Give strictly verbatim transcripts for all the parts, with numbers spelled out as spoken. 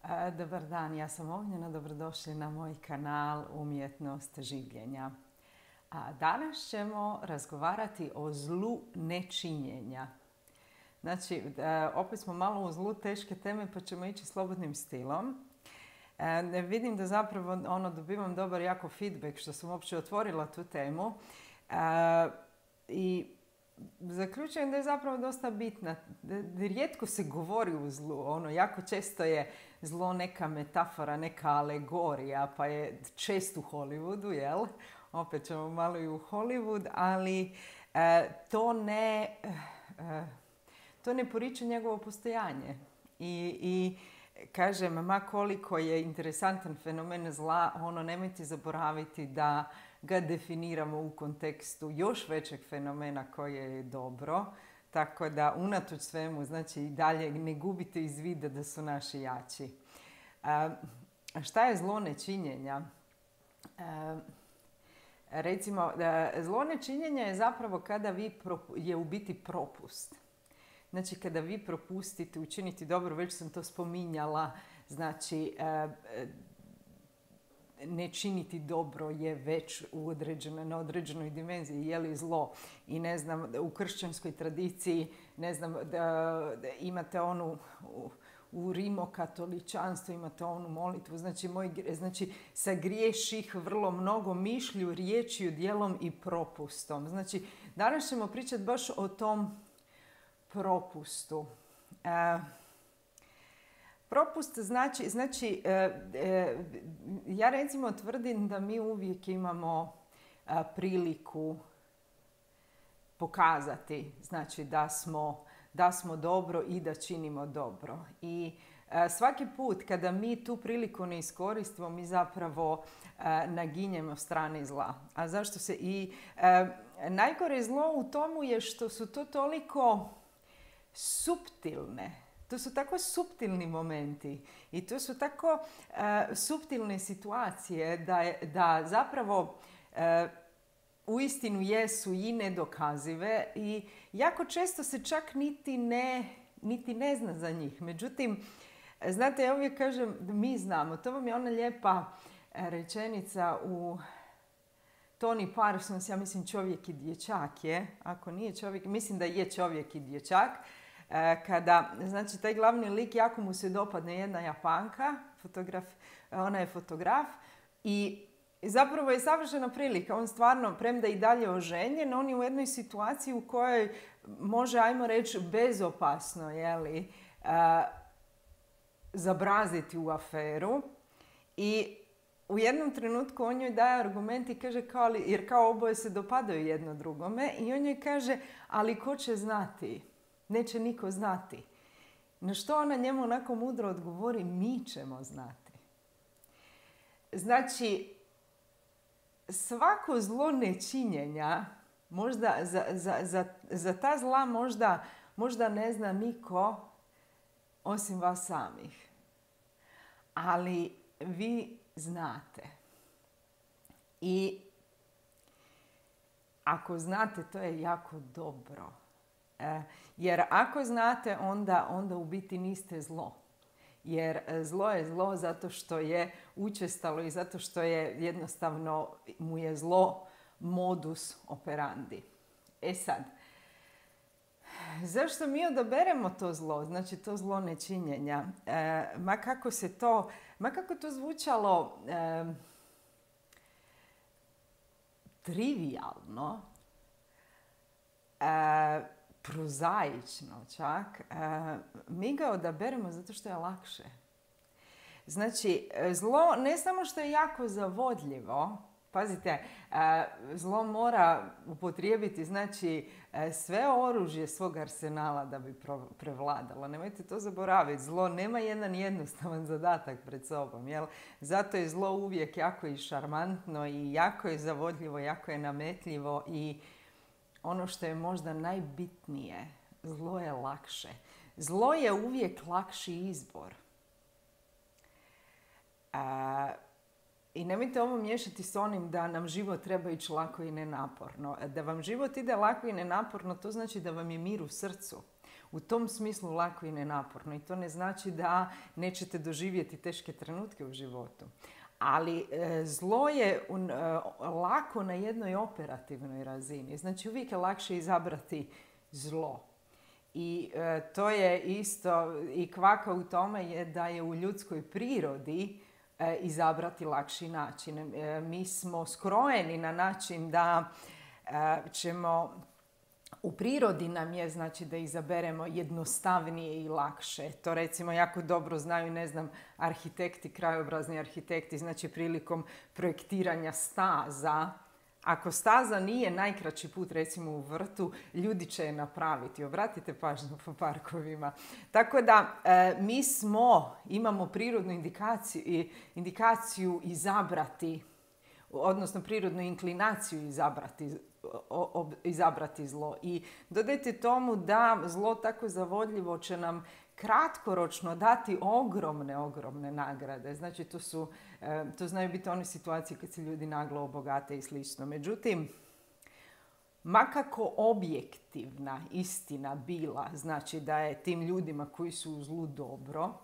E, Dobar dan, ja sam Ognjena, dobrodošli na moj kanal Umjetnost življenja. A danas ćemo razgovarati o zlu nečinjenja. Znači, e, opet smo malo u zlu teške teme pa ćemo ići slobodnim stilom. E, vidim da zapravo ono, dobivam dobar jako feedback što sam uopće otvorila tu temu. E, I zaključujem da je zapravo dosta bitna. Rijetko se govori u zlu. Ono, jako često je zlo neka metafora, neka alegorija, pa je često u Hollywoodu, jel? Opet ćemo malo i u Hollywood, ali e, to ne e, to ne poriče njegovo postojanje. I, i kažem, ma koliko je interesantan fenomen zla, ono, nemojte zaboraviti da ga definiramo u kontekstu još većeg fenomena koje je dobro. Tako da unatoč svemu, znači i dalje ne gubite iz vida da su naši jači. A, šta je zlo nečinjenja? A, recimo, zlo nečinjenja je zapravo kada vi je u biti propust. Znači, kada vi propustite učiniti dobro, već sam to spominjala, znači ne činiti dobro je već u određenoj, na određenoj dimenziji, je li zlo. I ne znam, u kršćanskoj tradiciji, ne znam, da, da imate onu, u, u rimokatoličanstvu imate onu molitvu, znači, moj, znači sagriješih vrlo mnogo mišlju, riječju, djelom i propustom. Znači, danas ćemo pričati baš o tom propustu. E, Propust znači, znači e, e, ja recimo tvrdim da mi uvijek imamo a, priliku pokazati, znači da smo, da smo dobro i da činimo dobro. I a, svaki put kada mi tu priliku ne iskoristimo, mi zapravo a, naginjemo strani zla. A zašto se i a, najgore zlo u tomu je što su to toliko suptilne. To su tako suptilni momenti i to su tako uh, suptilne situacije da, je, da zapravo uh, uistinu jesu i nedokazive i jako često se čak niti ne, niti ne zna za njih. Međutim, znate, ja uvijek kažem da mi znamo. To vam je ona lijepa rečenica u Tony Parsons, ja mislim Čovjek i dječak je. Ako nije čovjek, mislim da je Čovjek i dječak. Kada, znači, taj glavni lik, jako mu se dopadne jedna Japanka, fotograf, ona je fotograf i zapravo je savršena prilika. On stvarno, premda i dalje oženjen, on je u jednoj situaciji u kojoj može, ajmo reći, bezopasno, jeli, a, zabraziti u aferu. I u jednom trenutku on joj daje argument i kaže, kao, jer kao oboje se dopadaju jedno drugome, i on joj kaže, ali ko će znati? Neće niko znati. Na što ona njemu onako mudro odgovori, mi ćemo znati. Znači, svako zlo nečinjenja, možda za, za, za, za ta zla možda, možda ne zna niko osim vas samih. Ali vi znate. I ako znate, to je jako dobro. Jer ako znate, onda, onda u biti niste zlo. Jer zlo je zlo zato što je učestalo i zato što je jednostavno mu je zlo modus operandi. E sad, zašto mi odaberemo to zlo, znači to zlo nečinjenja? E, ma kako se to, ma kako to zvučalo e, trivijalno, e, prozaično čak, mi ga odaberemo zato što je lakše. Znači, zlo ne samo što je jako zavodljivo, pazite, zlo mora upotrijebiti, znači, sve oružje svog arsenala da bi prevladalo. Nemojte to zaboraviti. Zlo nema jedan jednostavan zadatak pred sobom. Jel? Zato je zlo uvijek jako i šarmantno i jako je zavodljivo, jako je nametljivo i ono što je možda najbitnije, zlo je lakše. Zlo je uvijek lakši izbor. A, I nemojte ovo miješati s onim da nam život treba ići lako i nenaporno. Da vam život ide lako i nenaporno, to znači da vam je mir u srcu. u tom smislu lako i nenaporno. I to ne znači da nećete doživjeti teške trenutke u životu. Ali e, zlo je e, lako na jednoj operativnoj razini. Znači uvijek je lakše izabrati zlo. I e, to je isto, i kvaka u tome je da je u ljudskoj prirodi e, izabrati lakši način. E, mi smo skrojeni na način da e, ćemo, u prirodi nam je znači da izaberemo jednostavnije i lakše. To recimo jako dobro znaju, ne znam, arhitekti, krajobrazni arhitekti, znači prilikom projektiranja staza. Ako staza nije najkraći put, recimo u vrtu, ljudi će je napraviti. Obratite pažnju po parkovima. Tako da e, mi smo, imamo prirodnu indikaciju, indikaciju izabrati, odnosno prirodnu inklinaciju izabrati, o, o, izabrati zlo. I dodajte tomu da zlo tako zavodljivo će nam kratkoročno dati ogromne, ogromne nagrade. Znači, to, su, to znaju biti one situacije kad se ljudi naglo obogate i slično. Međutim, makako objektivna istina bila, znači da je tim ljudima koji su u zlu dobro,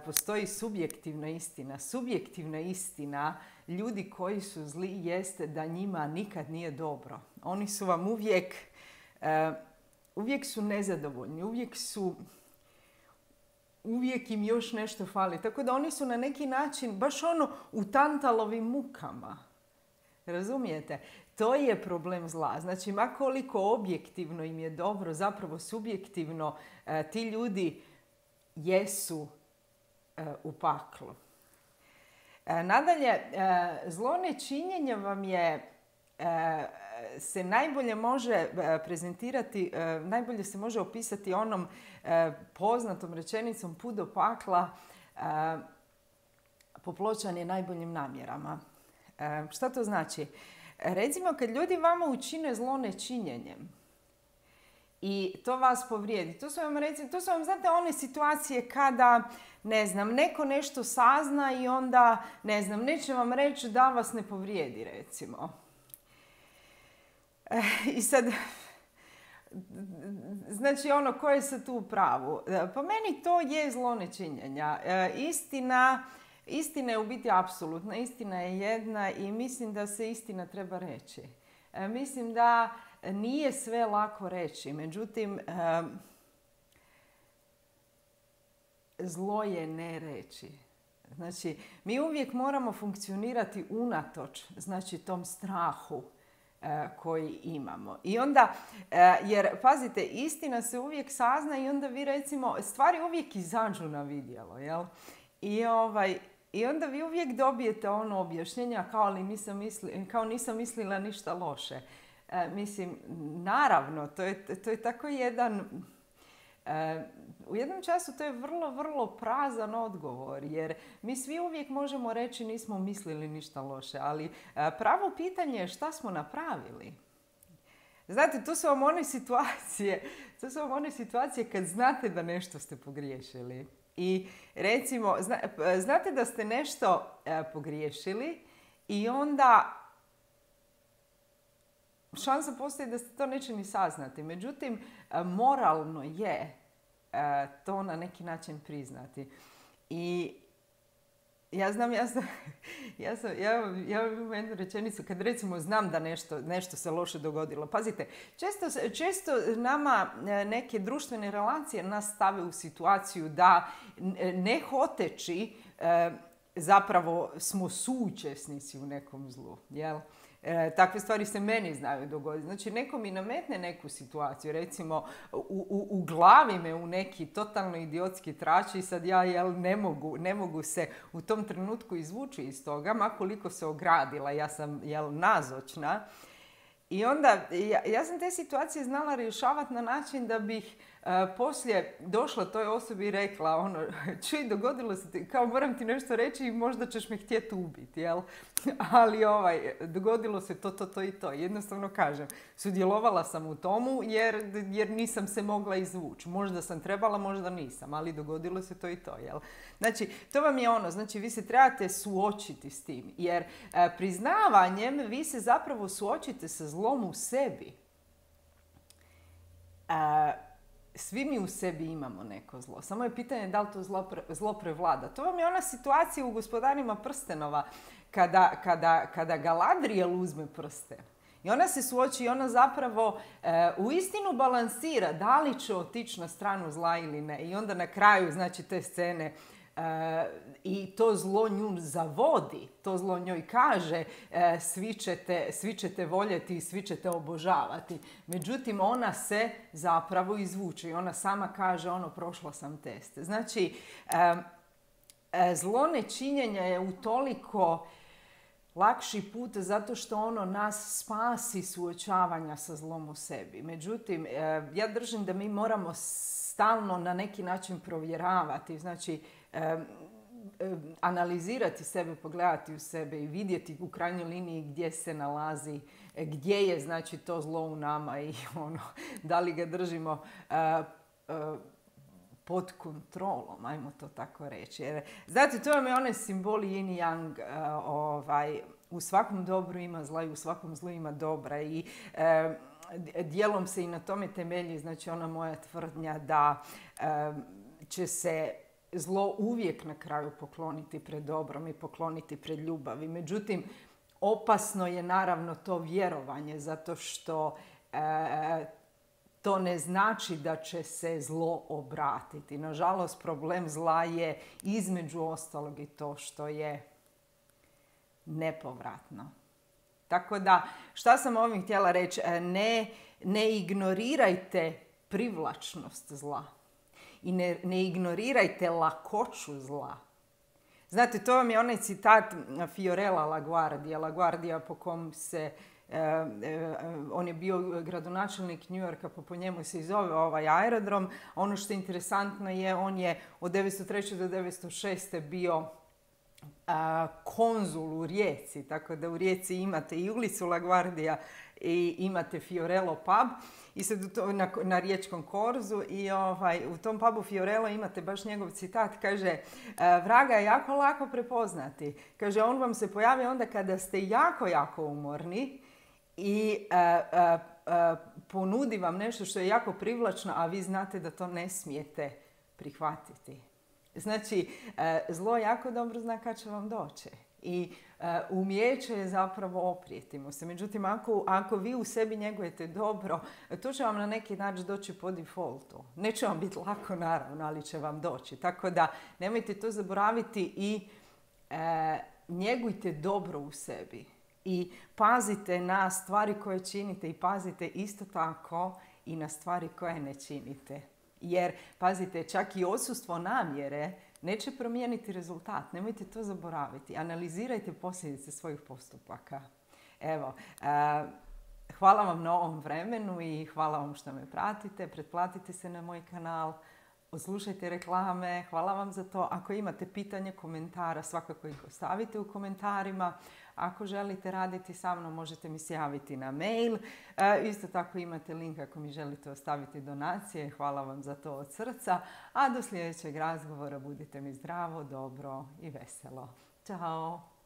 postoji subjektivna istina. Subjektivna istina ljudi koji su zli jeste da njima nikad nije dobro. Oni su vam uvijek, uvijek su nezadovoljni, uvijek su uvijek im još nešto fali. Tako da oni su na neki način baš ono u tantalovim mukama. Razumijete? To je problem zla. Znači, makoliko objektivno im je dobro, zapravo subjektivno e, ti ljudi jesu e, u paklu. E, nadalje, e, zlo nečinjenja vam je e, se najbolje može prezentirati, najbolje se može opisati onom poznatom rečenicom put do pakla popločan je najboljim namjerama. Šta to znači? Recimo, kad ljudi vama učine zlo nečinjenjem i to vas povrijedi, to su vam, recimo, to su vam, znate, one situacije kada, ne znam, neko nešto sazna i onda, ne znam, neće vam reći da vas ne povrijedi, recimo. I sad, znači ono, ko je sad tu u pravu? Po meni to je zlo nečinjenja. Istina, istina je u biti apsolutna, istina je jedna i mislim da se istina treba reći. Mislim da nije sve lako reći, međutim, zlo je ne reći. Znači, mi uvijek moramo funkcionirati unatoč, znači, tom strahu koji imamo. I onda, jer pazite, istina se uvijek sazna i onda vi recimo, stvari uvijek izađu na vidjelo, jel? I, ovaj, i onda vi uvijek dobijete ono objašnjenja kao, ali nisam misli, kao nisam mislila ništa loše. E, mislim, naravno, to je, to je tako jedan... E, u jednom času to je vrlo, vrlo prazan odgovor, jer mi svi uvijek možemo reći nismo mislili ništa loše, ali pravo pitanje je šta smo napravili. Znate, to su vam one situacije, to su vam one situacije kad znate da nešto ste pogriješili. I recimo, zna, znate da ste nešto pogriješili i onda šansa postoji da ste to neće ni saznati. Međutim, moralno je to na neki način priznati. I ja znam, ja sam, ja sam, ja, ja imam jednu rečenicu, kad recimo znam da nešto, nešto se loše dogodilo. Pazite, često, često nama neke društvene relacije nas stave u situaciju da ne hoteći zapravo smo suučesnici u nekom zlu, jel? E, takve stvari se meni znaju dogoditi. Znači, neko mi nametne neku situaciju, recimo u, u, u glavi me u neki totalno idiotski trači i sad ja jel, ne, mogu, ne mogu se u tom trenutku izvući iz toga, makoliko se ogradila, ja sam jel, nazočna. I onda, ja, ja sam te situacije znala rješavati na način da bih uh, poslije došla toj osobi i rekla, ono, čuj, dogodilo se ti, kao moram ti nešto reći i možda ćeš me htjeti ubiti, jel? Ali ovaj, dogodilo se to, to, to i to. Jednostavno kažem, sudjelovala sam u tomu jer, jer nisam se mogla izvući. Možda sam trebala, možda nisam, ali dogodilo se to i to, jel? Znači, to vam je ono, znači vi se trebate suočiti s tim, jer uh, priznavanjem vi se zapravo suočite sa zlom u sebi. Uh, svi mi u sebi imamo neko zlo. Samo je pitanje da li to zlo, pre, zlo prevlada. To vam je ona situacija u Gospodarima prstenova kada, kada, kada Galadriel uzme prsten. I ona se suoči i ona zapravo e, u istinu balansira da li će otići na stranu zla ili ne. I onda na kraju, znači, te scene e, i to zlo nju zavodi, to zlo njoj kaže e, svi, ćete, svi ćete voljeti i svi ćete obožavati. Međutim, ona se zapravo izvuče i ona sama kaže ono, prošla sam test. Znači, e, e, zlo nečinjenja je utoliko lakši put zato što ono nas spasi suočavanja sa zlom u sebi. Međutim, ja držim da mi moramo stalno na neki način provjeravati, znači analizirati sebe, pogledati u sebe i vidjeti u krajnjoj liniji gdje se nalazi, gdje je znači to zlo u nama i ono, da li ga držimo pod kontrolom, ajmo to tako reći. Jer, znate, to vam je onaj simbol yin i yang, uh, ovaj, u svakom dobru ima zla i u svakom zlu ima dobra. I uh, dijelom se i na tome temelji, znači ona moja tvrdnja da uh, će se zlo uvijek na kraju pokloniti pred dobrom i pokloniti pred ljubavi. Međutim, opasno je naravno to vjerovanje, zato što uh, to ne znači da će se zlo obratiti. Nažalost, problem zla je između ostalog i to što je nepovratno. Tako da, šta sam ovim htjela reći? Ne, ne ignorirajte privlačnost zla. I ne, ne ignorirajte lakoću zla. Znate, to vam je onaj citat Fiorella LaGuardia. LaGuardia po kom se Uh, uh, on je bio gradonačelnik New Yorka, pa po njemu se i zove ovaj aerodrom. Ono što je interesantno je, on je od devetsto treće do devetsto šeste bio uh, konzul u Rijeci, tako da u Rijeci imate i ulicu LaGuardia i imate Fiorello pub i sad to, na, na riječkom korzu i ovaj, u tom pubu Fiorello imate baš njegov citat, kaže vraga je jako lako prepoznati. Kaže, on vam se pojavi onda kada ste jako, jako umorni i uh, uh, uh, ponudi vam nešto što je jako privlačno, a vi znate da to ne smijete prihvatiti. Znači, uh, zlo jako dobro zna kad će vam doći. I uh, umijeće je zapravo oprijeti mu se. Međutim, ako, ako vi u sebi njegujete dobro, to će vam na neki način doći po defaultu. Neće vam biti lako, naravno, ali će vam doći. Tako da nemojte to zaboraviti i uh, njegujte dobro u sebi. I pazite na stvari koje činite i pazite isto tako i na stvari koje ne činite. Jer, pazite, čak i odsustvo namjere neće promijeniti rezultat. Nemojte to zaboraviti. Analizirajte posljedice svojih postupaka. Evo, uh, hvala vam na ovom vremenu i hvala vam što me pratite. Pretplatite se na moj kanal. Odslušajte reklame. Hvala vam za to. Ako imate pitanje, komentara, svakako ih ostavite u komentarima. Ako želite raditi sa mnom, možete mi se javiti na mail. E, isto tako imate link ako mi želite ostaviti donacije. Hvala vam za to od srca. A do sljedećeg razgovora budite mi zdravo, dobro i veselo. Ćao!